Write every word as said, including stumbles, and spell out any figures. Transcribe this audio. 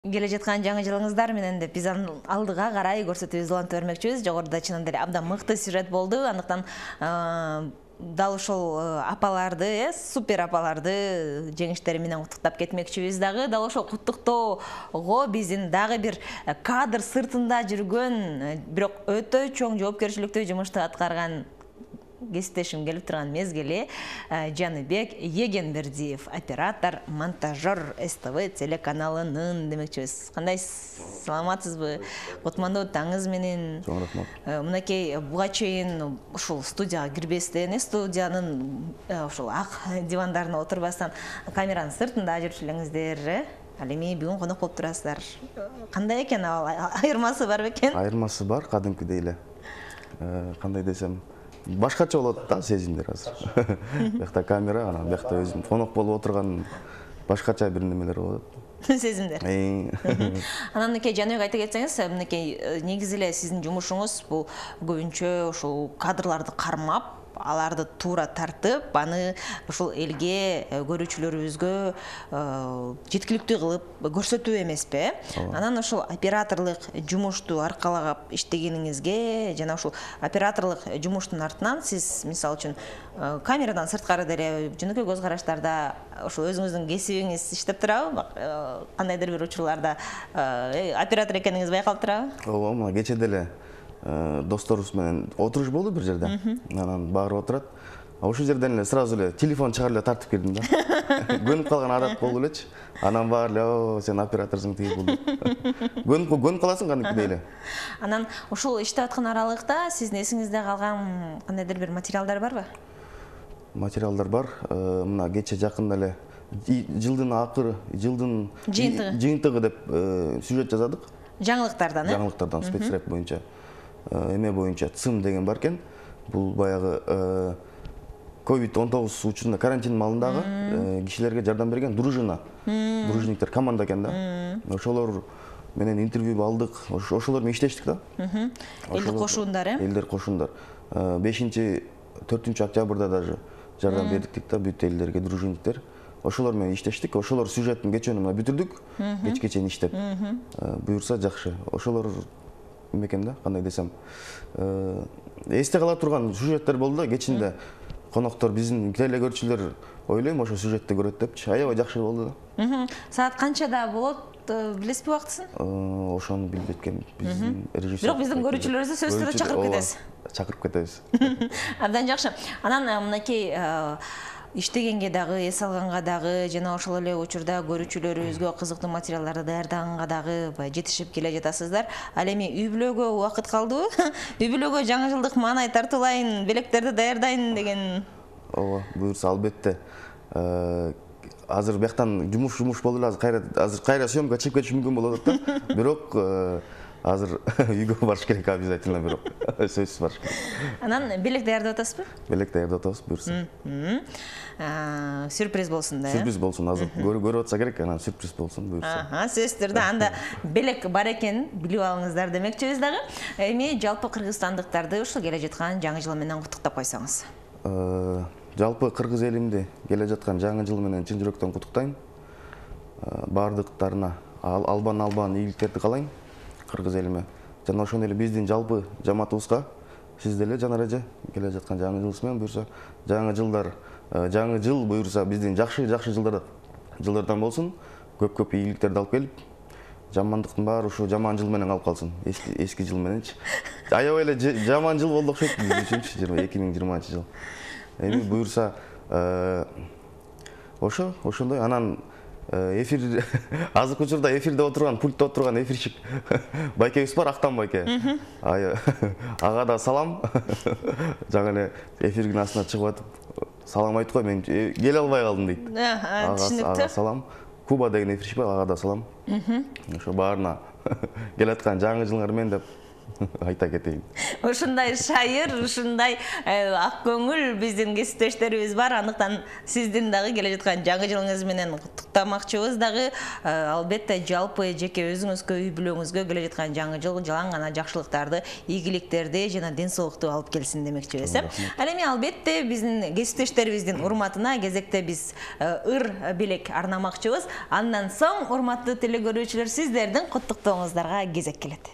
Келе жаткан жаңы жылыңыздар менен деп биз алдыга карай көрсөтүүбүздү улантып бермекчибиз. Жогоруда чынында эле абдан мыкты сюжет болду. Андыктан дал ошол апаларды, э, супер апаларды жеңиштери менен куттуктап кетмекчибиз дагы. Дал ошол куттуктоого биздин дагы бир кадр сыртында жүргөн, бирок өтө чоң жоопкерчиликтүү жумушту аткарган кесиптешим келип турган мезгили Жаныбек Егенбердиев, оператор, монтажер эс тэ вэ телеканалынын демекчибиз. Кандай саламатсызбы? Кутмандуу таңыңыз менен. Чоң рахмат. Мынакей буга чейин ушул студияга кирбестен, студиянын ушул ак дивандарына отурбастан камеранын сыртында жүрчү элеңиздер. Ал эми бүгүн конок болуп турасыздар. Кандай экен ал? Айырмасы бар бекен? Айырмасы бар, кадимкидей эле. Кандай десем, башкача болот да сезимдер азыр. Бuyakta камера, анан бuyakта өзүм конок болуп отурган башкача бир немелер болот. Сезимдер. Анан мынакей Жаныбек айта кетсеңиз, мынакей негизи эле сиздин жумушуңуз бул көбүнчө ушул кадрларды кармап, аларды туура тартып, аны ушул элге, көрүүчүлөрүбүзгө жеткиликтүү кылып көрсөтүү эмеспи? Анан ушул операторлук жумушту аркалагап иштегениңизге жана ушул операторлук жумуштун артынан сиз мисалы үчүн камерадан сырткары деле жөнөкөй көз караштарда ошол өзүңүздүн кесибиңиз иштеп турабы? Кандайдыр бир учурларда оператор экениңиз байкалып турабы? Ооба, мына кече деле досторубуз менен отуруш болду бир жерде. Анан баары отурат. Ошол жерден эле сразу эле телефон чыгарып эле тартып кирдим да. Көнүп калган адат болду элечи. Анан баары эле, "О, сен операторсуң тиги бул." Көнүп көнүп каласың кандайдыр эле. Анан ушул иштеп аткан аралыкта сиздин эсиңизде калган кандайдыр бир материалдар барбы? Материалдар бар. Мына кече жакында эле жылдын акыры, жылдын жыйынтыгы деп сюжет жазадык. Жаңылыктардан, э? Жаңылыктардан, спецрэп боюнча. Эме боюнча ЦИМ деген бар экен. Бул баягы ковид он тогуз учурунда карантин маалындагы кишилерге жардам берген дружина. Дружниктер команда экен да. Ошолор менен интервью алдык. Ошолор менен иштештик да. Элдик кошуундар, э? Элдер кошуундар. бешинчи төртүнчү октябрда даже жардам бердик да бүт элдерге, дружниктер. Ошолор менен иштештик. Ошолор сюжеттин кечөөнү бүтүрдүк. Кечке чейин иштеп. Буюрса жакшы. Ошолор экен да, кандай десем, эсте кала турган сюжеттер болду да. Кечинде коноктор, биздин телекөрүүчүлөр ойлойм ошо сюжетти көрөт депчи. Аябай жакшы болду да. Саат канчада болот, билесизби убактысын? Ошону билбейт экенмин. Биздин режиссер. Бирок биздин көрүүчүлөрүбүздү сөзсүз түрдө чакырып кетебиз. Чакырып кетебиз. Абдан жакшы. Анан мынакей иштегенге дагы, эс алганга дагы, жана ошол эле учурда көрүүчүлөрүбүзгө кызыктуу материалдарды даярдаганга дагы жетишип келе жатасыздар. Ал эми үй бүлөгө убакыт калдыбы? Үй бүлөгө жаңы жылдык маанай тартуулайын, белектерди даярдайын деген. Ооба, буюрса албетте. Азыр бияктан жумуш жумуш болду эле, азыр кайра азыр кайра съемка чыгып кетиш мүмкүн болуп атат да. Бирок азыр үйгө барыш керек обязательно, бирок сөзсүз барыш керек. Анан белек даярдап атасызбы? Белек даярдап атабыз, буюрса. Сюрприз болсун да. Сюрприз болсун, азыр көрүп атса керек, анан сюрприз болсун, буюрса. Аха, сөзсүз түрдө анда белек бар экенин билип алыңыздар демекчибиз дагы. Эми жалпы кыргызстандыктарды ушул келе жаткан жаңы жыл менен куттуктап койсоңуз. Жалпы кыргыз элимди келе жаткан жаңы жыл менен чын жүрөктөн куттуктайм. Бардыктарына албан албан ийгиликтерди каалайм кыргыз элиме. Жана ошондой эле биздин жалпы жамаатыбызга, сиз деле Жанар эже келе жаткан жаңы жылыңыз менен буюрса жаңы жылдар, жаңы жыл буюрса биздин жакшы жакшы жылдар жылдардан болсун, көп-көп ийгиликтерди алып келип, жамандыктын баары ушу жаман жыл менен калып калсын, эски эски жыл мененчи. Аябай эле жаман жыл болду окшойт биз үчүнчү эки миң жыйырманчы жыл. Эми буюрса ошо ошондой. Анан эфир азыркы учурда эфирде отурган, пультта отурган эфирчик байкебиз бар, Актан байке. Ага да салам. Жаңы эле эфирдин астына чыгып атып салам айтып кой, мен келе албай калдым дейт. Түшүнүктүү. Ага салам. Куба деген эфирчик бар, ага да салам. Ошо баарына келаткан жаңы жылыңар менен деп айта кетейин. Ушундай шайыр, ушундай ак көңүл биздин кесиптештерибиз бар. Андыктан сиздин дагы келе жаткан жаңы жылыңыз менен куттуктамакчыбыз дагы. Албетте жалпы жеке өзүңүзгө, үй бүлөңүзгө келе жаткан жаңы жыл жалаң гана жакшылыктарды, ийгиликтерди жана ден соолукту алып келсин демекчибиз. Ал эми албетте биздин кесиптештерибиздин урматына кезекте биз ыр белек арнамакчыбыз. Андан соң урматтуу телекөрүүчүлөр, сиздердин куттуктооңуздарга кезек келет.